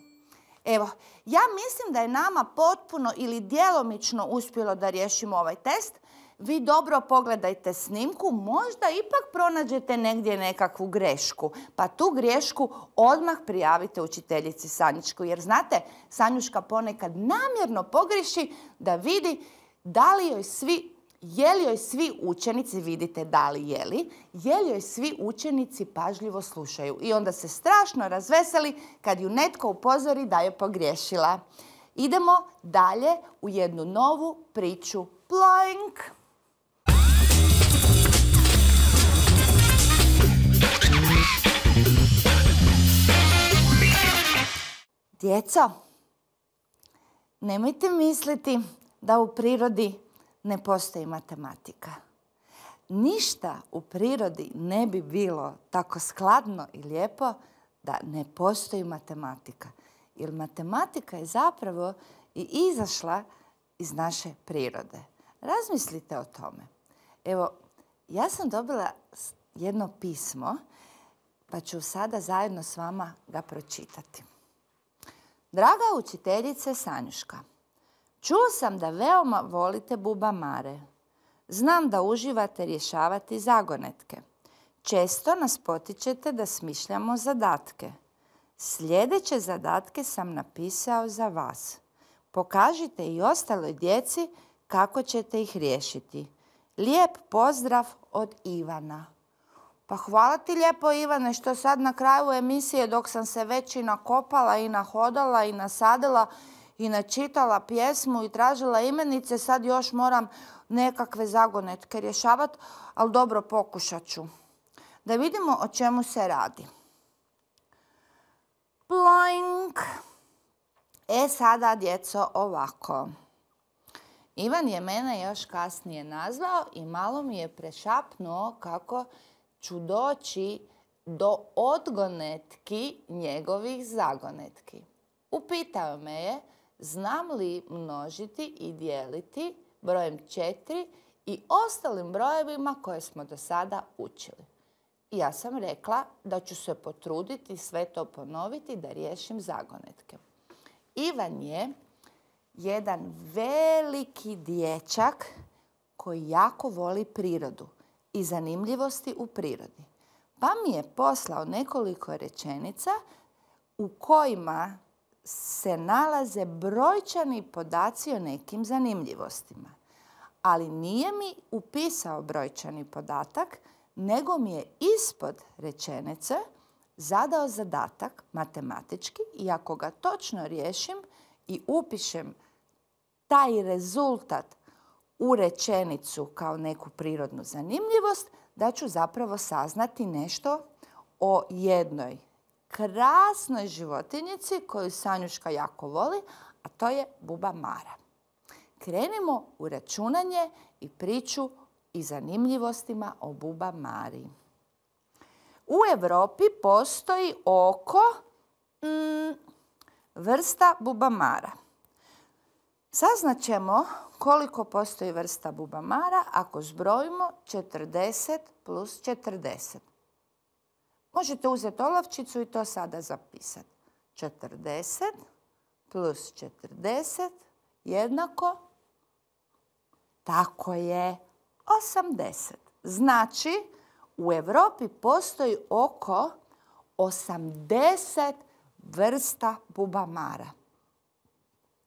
Evo, ja mislim da je nama potpuno ili djelomično uspjelo da riješimo ovaj test. Vi dobro pogledajte snimku, možda ipak pronađete negdje nekakvu grešku. Pa tu grešku odmah prijavite učiteljici Sanjičku. Jer znate, Sanjuška ponekad namjerno pogriješi da vidi da li joj svi, je li joj svi učenici, vidite da li je li, je li joj svi učenici pažljivo slušaju. I onda se strašno razveseli kad ju netko upozori da je pogriješila. Idemo dalje u jednu novu priču. Ploink! Djeco, nemojte misliti da u prirodi ne postoji matematika. Ništa u prirodi ne bi bilo tako skladno i lijepo da ne postoji matematika. Jer matematika je zapravo i izašla iz naše prirode. Razmislite o tome. Evo, ja sam dobila jedno pismo, pa ću sada zajedno s vama ga pročitati. Draga učiteljice Sanjuška, Čuo sam da veoma volite bubamare. Znam da uživate rješavati zagonetke. Često nas potičete da smišljamo zadatke. Sljedeće zadatke sam napisao za vas. Pokažite i ostaloj djeci kako ćete ih riješiti. Lijep pozdrav od Ivana. Pa hvala ti lijepo, Ivane, što sad na kraju emisije, dok sam se već i nakopala i nahodala i nasadila i načitala pjesmu i tražila imenice, sad još moram nekakve zagonetke rješavati, ali dobro, pokušat ću. Da vidimo o čemu se radi. Ploink. E sada, djeco, ovako. Ivan je mene još kasnije nazvao i malo mi je prešapnuo kako ću doći do odgonetki njegovih zagonetki. Upitao me je znam li množiti i dijeliti brojem četiri i ostalim brojevima koje smo do sada učili. I ja sam rekla da ću se potruditi sve to ponoviti da riješim zagonetke. Ivan je jedan veliki dječak koji jako voli prirodu i zanimljivosti u prirodi. Pa mi je poslao nekoliko rečenica u kojima se nalaze brojčani podaci o nekim zanimljivostima. Ali nije mi upisao brojčani podatak, nego mi je ispod rečenice zadao zadatak matematički i ako ga točno riješim i upišem taj rezultat u rečenicu kao neku prirodnu zanimljivost, da ću zapravo saznati nešto o jednoj krasnoj životinjici koju Sanjuška jako voli, a to je bubamara. Krenimo u računanje i priču i zanimljivostima o bubamari. U Europi postoji oko mm, vrsta bubamara. Saznaćemo koliko postoji vrsta bubamara ako zbrojimo četrdeset plus četrdeset. Možete uzeti olovčicu i to sada zapisati. četrdeset plus četrdeset jednako, tako je, osamdeset. Znači, u Europi postoji oko osamdeset vrsta bubamara.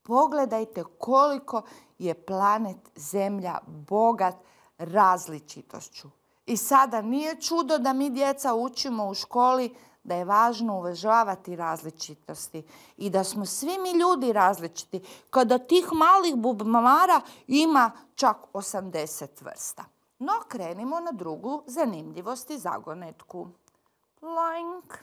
Pogledajte koliko je planet Zemlja bogat različitošću. I sada nije čudo da mi djeca učimo u školi da je važno uvažavati različitosti i da smo svi mi ljudi različiti, kada tih malih bubamara ima čak osamdeset vrsta. No, krenimo na drugu zanimljivost i zagonetku. Ploink.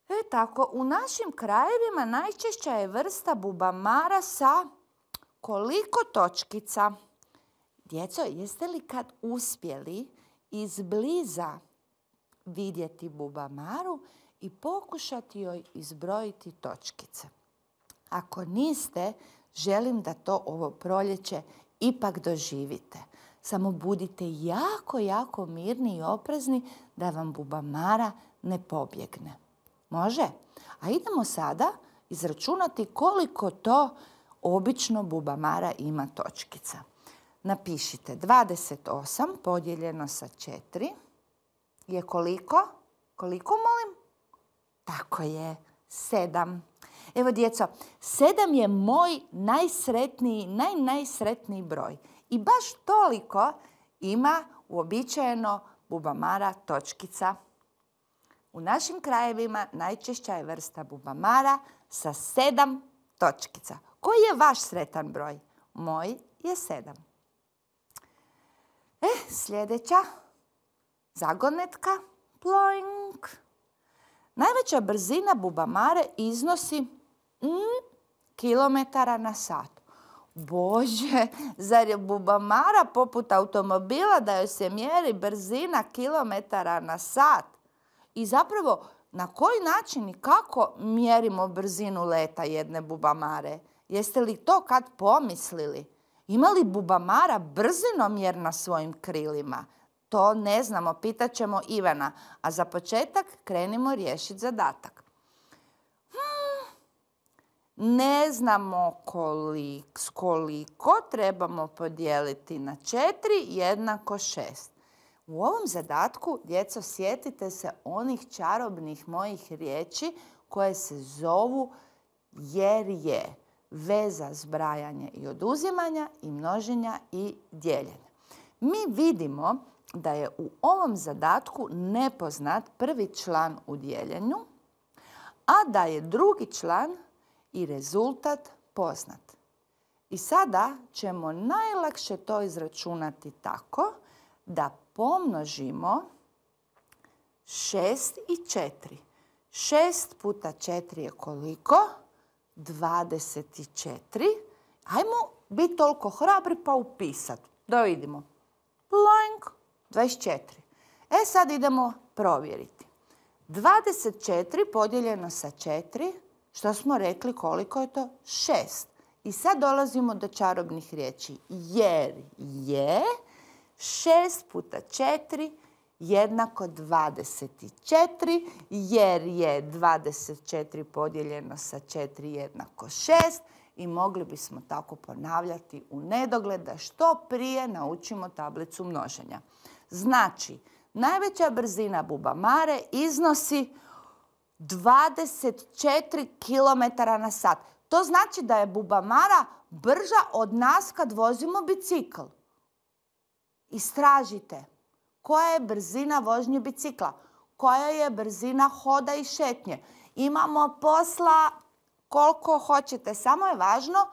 E tako, u našim krajevima najčešća je vrsta bubamara sa koliko točkica? Djeco, jeste li kad uspjeli izbliza vidjeti bubamaru i pokušati joj izbrojiti točkice? Ako niste, želim da to ovo proljeće ipak doživite. Samo budite jako, jako mirni i oprezni da vam bubamara ne pobjegne. Može? A idemo sada izračunati koliko to obično bubamara ima točkica. Napišite dvadeset osam podijeljeno sa četiri je koliko? Koliko, molim? Tako je, sedam. Evo, djeco, sedam je moj najsretniji, naj, najsretniji broj. I baš toliko ima uobičajeno bubamara točkica. U našim krajevima najčešća je vrsta bubamara sa sedam točkica. Koji je vaš sretan broj? Moj je sedam. E, sljedeća zagonetka. Ploink. Najveća brzina bubamare iznosi mm, kilometara na sat. Bože, zar je bubamara poput automobila da joj se mjeri brzina kilometara na sat? I zapravo, na koji način i kako mjerimo brzinu leta jedne bubamare? Jeste li to kad pomislili? Ima li bubamara brzinomjer na svojim krilima? To ne znamo, pitat ćemo Ivana. A za početak krenimo riješiti zadatak. Hmm. ne znamo koliko, koliko trebamo podijeliti na četiri jednako šest. U ovom zadatku, djeco, sjetite se onih čarobnih mojih riječi koje se zovu jer je. Veza zbrajanja i oduzimanja i množenja i dijeljenja. Mi vidimo da je u ovom zadatku nepoznat prvi član u dijeljenju, a da je drugi član i rezultat poznat. I sada ćemo najlakše to izračunati tako da pomnožimo šest i četiri. šest puta četiri je koliko? dvadeset četiri. Hajmo biti toliko hrabri pa upisati. Da vidimo. Ploink, dvadeset četiri. E sad idemo provjeriti. dvadeset četiri podijeljeno sa četiri, što smo rekli koliko je to? šest. I sad dolazimo do čarobnih riječi. Jer je šest puta četiri jednako dvadeset četiri, jer je dvadeset četiri podijeljeno sa četiri jednako šest i mogli bismo tako ponavljati u nedogled da što prije naučimo tablicu množenja. Znači, najveća brzina bubamare iznosi dvadeset četiri kilometra na sat. To znači da je bubamara brža od nas kad vozimo bicikl. Istražite. Koja je brzina vožnje bicikla? Koja je brzina hoda i šetnje? Imamo posla koliko hoćete. Samo je važno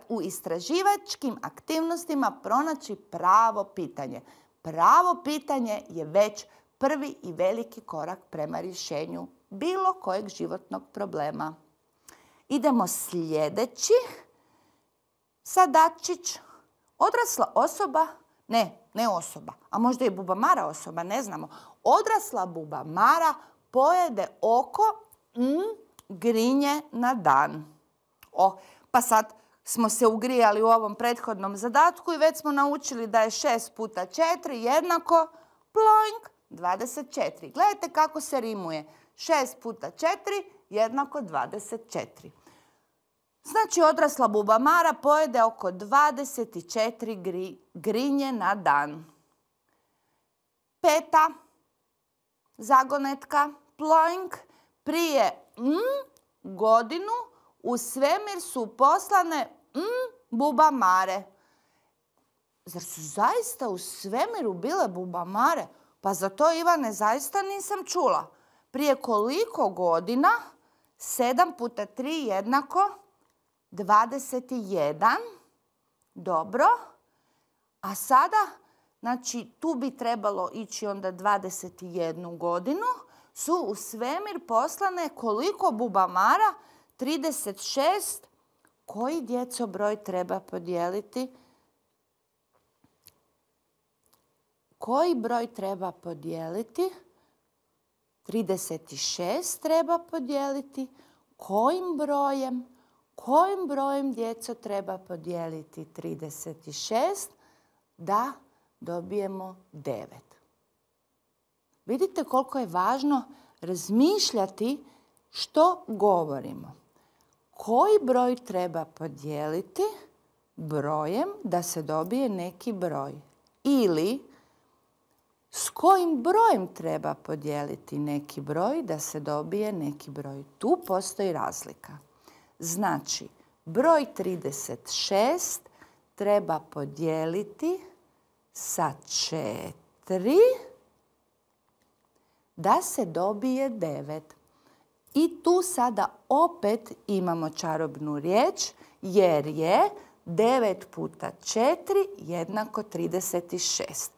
u istraživačkim aktivnostima pronaći pravo pitanje. Pravo pitanje je već prvi i veliki korak prema rješenju bilo kojeg životnog problema. Idemo sljedeći zadačić. Odrasla osoba, ne, ne osoba, a možda i bubamara osoba, ne znamo. Odrasla bubamara pojede oko mm, grinje na dan. O, pa sad smo se ugrijali u ovom prethodnom zadatku i već smo naučili da je šest puta četiri jednako ploink, dvadeset četiri. Gledajte kako se rimuje. šest puta četiri jednako dvadeset četiri. Znači, odrasla bubamara pojede oko dvadeset četiri gri, grinje na dan. Peta zagonetka, ploink, prije mm, godinu u svemir su poslane mm, bubamare. Zar su zaista u svemiru bile bubamare? Pa za to, Ivane, zaista nisam čula. Prije koliko godina? sedam puta tri jednako dvadeset jedan. Dobro. A sada, znači tu bi trebalo ići onda dvadeset jednu godinu, su u svemir poslane koliko bubamara? trideset šest. Koji, djeco, broj treba podijeliti? Koji broj treba podijeliti? trideset šest treba podijeliti. Kojim brojem? Kojim brojem, djeco, treba podijeliti trideset šest? Da dobijemo devet. Vidite koliko je važno razmišljati što govorimo. Koji broj treba podijeliti brojem da se dobije neki broj? Ili s kojim brojem treba podijeliti neki broj da se dobije neki broj? Tu postoji razlika. Znači, broj trideset šest treba podijeliti sa četiri da se dobije devet. I tu sada opet imamo čarobnu riječ, jer je devet puta četiri jednako trideset šest.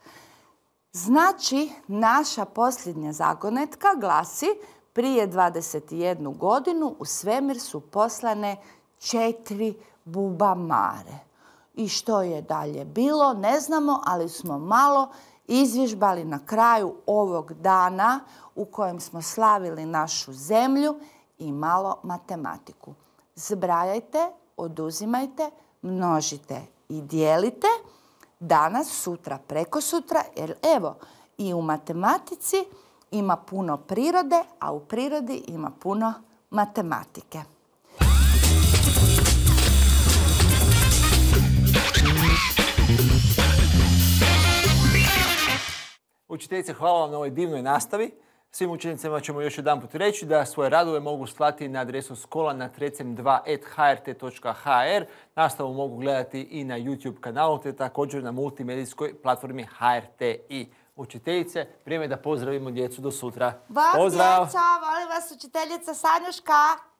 Znači, naša posljednja zagonetka glasi: prije dvadeset jednu godinu u svemir su poslane četiri bubamare. I što je dalje bilo, ne znamo, ali smo malo izvježbali na kraju ovog dana u kojem smo slavili našu zemlju i malo matematiku. Zbrajajte, oduzimajte, množite i dijelite danas, sutra, prekosutra, jer evo i u matematici ima puno prirode, a u prirodi ima puno matematike. Učiteljice, hvala vam na ovoj divnoj nastavi. Svim učenicama ćemo još jedan put reći da svoje radove mogu slati na adresu skola na trecem dva et ha er te točka ha er. Nastavu mogu gledati i na YouTube kanalu te također na multimedijskoj platformi ha er te i. Učiteljice, vrijeme da pozdravimo djecu do sutra. Bog Pozdrav! djeco, volim vas učiteljica Sanjuška.